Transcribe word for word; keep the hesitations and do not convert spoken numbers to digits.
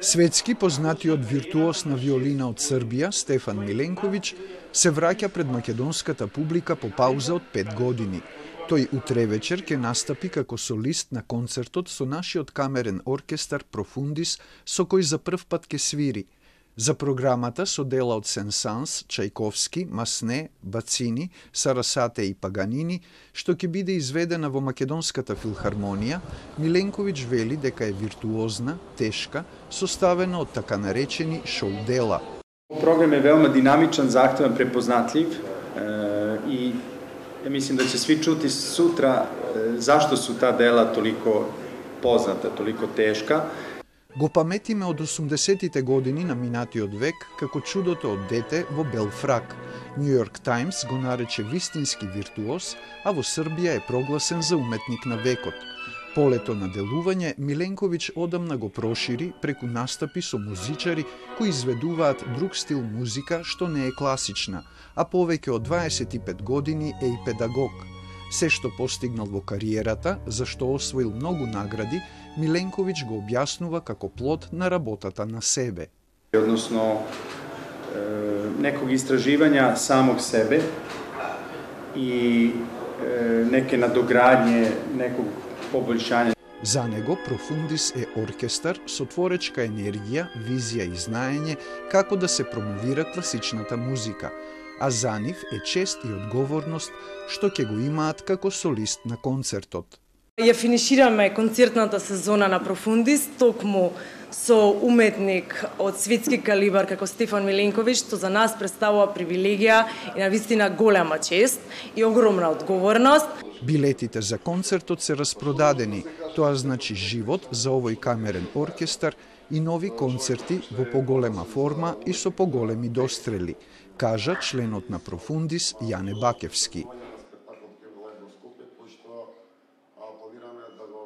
Светски познатиот виртуоз на виолина од Србија, Стефан Миленковиќ, се враќа пред македонската публика по пауза од пет години. Тој утре вечер ќе настапи како солист на концертот со нашиот камерен оркестар Профундис, со кој за прв пат ќе свири. За програмата со дела од Сен-Санс, Чајковски, Масне, Бацини, Сарасате и Паганини, што ќе биде изведена во Македонската филхармонија, Миленковиќ вели дека е виртуозна, тешка, составена од така наречени шоу дела. Програм е велма динамичен, захтевен, препознатлив и ја мислим да ќе сви чути сутра зашто су та дела толико позната, толико тешка. Го паметиме од осумдесетите години на минатиот век како чудото од дете во бел фрак. Нью Йорк Таймс го нарече вистински виртуоз, а во Србија е прогласен за уметник на векот. Полето на делување Миленковиќ одамна го прошири преку настапи со музичари кои изведуваат друг стил музика што не е класична, а повеќе од дваесет и пет години е и педагог. Се што постигнал во кариерата, за што освоил многу награди, Миленковиќ го објаснува како плод на работата на себе. Односно, неког истраживања самог себе и неке надоградње, неког побољшање. За него Профундис е оркестар со творечка енергија, визија и знаење како да се промовира класичната музика, а за нив е чест и одговорност што ќе го имаат како солист на концертот. Ја финишираме концертната сезона на Профундис токму со уметник од светски калибар како Стефан Миленковиќ, што за нас представува привилегија и навистина голема чест и огромна одговорност. Билетите за концертот се распродадени, тоа значи живот за овој камерен оркестар и нови концерти во поголема форма и со поголеми дострели, кажа членот на Профундис Јане Бакевски.